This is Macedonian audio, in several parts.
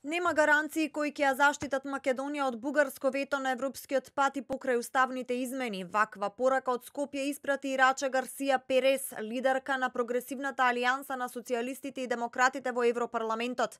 Нема гаранции кои ќе ја заштитат Македонија од бугарско вето на европскиот пат и покрај уставните измени. Ваква порака од Скопје испрати Ирача Гарсија Перес, лидерка на прогресивната алијанса на социјалистите и демократите во Европарламентот.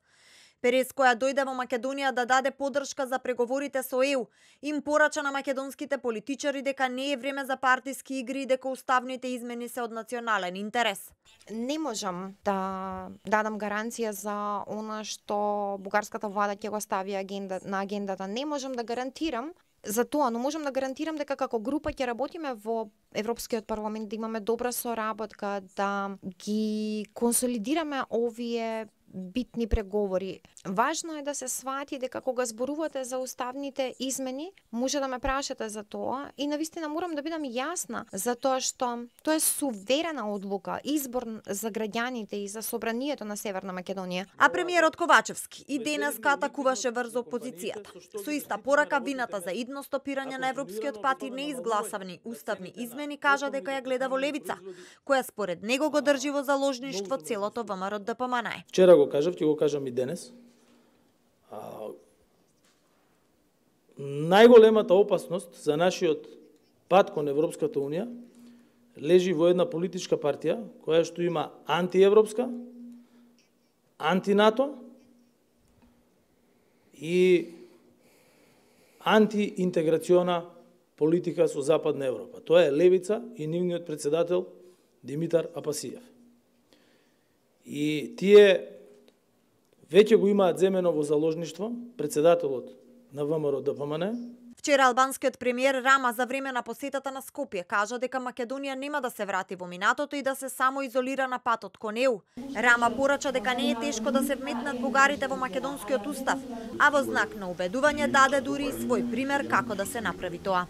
Перес, која дојде во Македонија да даде поддршка за преговорите со ЕУ, им порача на македонските политичари дека не е време за партиски игри и дека уставните измени се од национален интерес. Не можам да дадам гаранција за она што бугарската влада ќе го стави на агендата. Не можам да гарантирам за тоа, но можам да гарантирам дека како група ќе работиме во Европскиот парламент, да имаме добра соработка, да ги консолидираме овие битни преговори. Важно е да се свати дека кога зборувате за уставните измени, може да ме прашате за тоа и навистина морам да бидам јасна за тоа што тоа е суверена одлука, избор за граѓаните и за собранието на Северна Македонија. А премиерот Ковачевски и денес атакуваше врз опозицијата. Со иста порака вината за идно стопирање на европскиот пат и неизгласавни уставни измени кажа дека ја гледа во левица, која според него го држи во заложништво целото ВМРО-ДПМНЕ. Вчера го кажав, ќе го кажам и денес. Најголемата опасност за нашиот пат кон Европската Унија лежи во една политичка партија која што има антиевропска, антинато и антиинтеграциона политика со Западна Европа. Тоа е левица и нивниот председател Димитар Апасиев. И тие веќе го имаат земено во заложништво председателот на ВМРО-ДПМНЕ. Вчера албанскиот премиер Рама за време на посетата на Скопје кажа дека Македонија нема да се врати во минатото и да се само изолира на патот кон ЕУ. Рама порача дека не е тешко да се вметнат бугарите во македонскиот устав, а во знак на убедување даде дури и свој пример како да се направи тоа.